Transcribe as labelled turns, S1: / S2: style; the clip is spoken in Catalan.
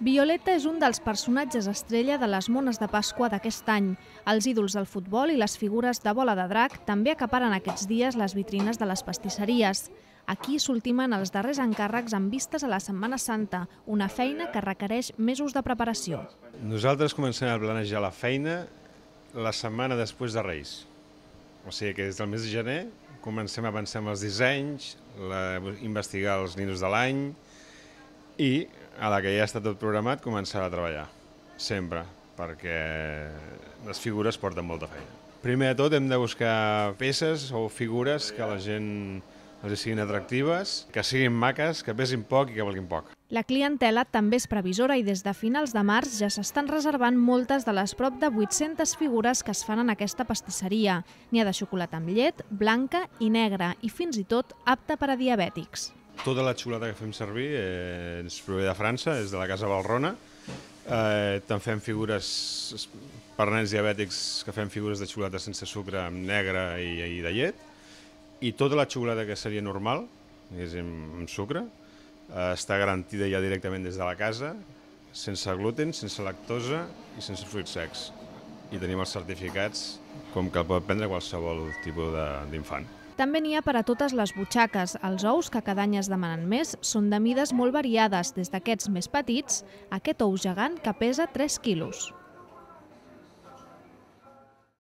S1: Violeta és un dels personatges estrella de les mones de Pasqua d'aquest any. Els ídols del futbol i les figures de bola de drac també acaparen aquests dies les vitrines de les pastisseries. Aquí s'ultimen els darrers encàrrecs amb vistes a la Setmana Santa, una feina que requereix mesos de preparació.
S2: Nosaltres comencem a planejar la feina la setmana després de Reis. O sigui que des del mes de gener comencem a pensar en els dissenys, investigar els ninos de l'any i a la que ja està tot programat començar a treballar, sempre, perquè les figures porten molta feina. Primer de tot hem de buscar peces o figures que a la gent els siguin atractives, que siguin maques, que pesin poc i que valguin poc.
S1: La clientela també és previsora i des de finals de març ja s'estan reservant moltes de les prop de 800 figures que es fan en aquesta pastisseria. N'hi ha de xocolata amb llet, blanca i negra i fins i tot apta per a diabètics.
S2: Tota la xocolata que fem servir ens prové de França, és de la casa Valrhona. També fem figures per nens diabètics, que fem figures de xocolata sense sucre, amb negre i de llet. I tota la xocolata que seria normal, amb sucre, està garantida ja directament des de la casa, sense gluten, sense lactosa i sense fruits secs. I tenim els certificats com que el pot prendre qualsevol tipus d'infant.
S1: També n'hi ha per a totes les butxaques. Els ous, que cada any es demanen més, són de mides molt variades, des d'aquests més petits a aquest ou gegant que pesa 3 quilos.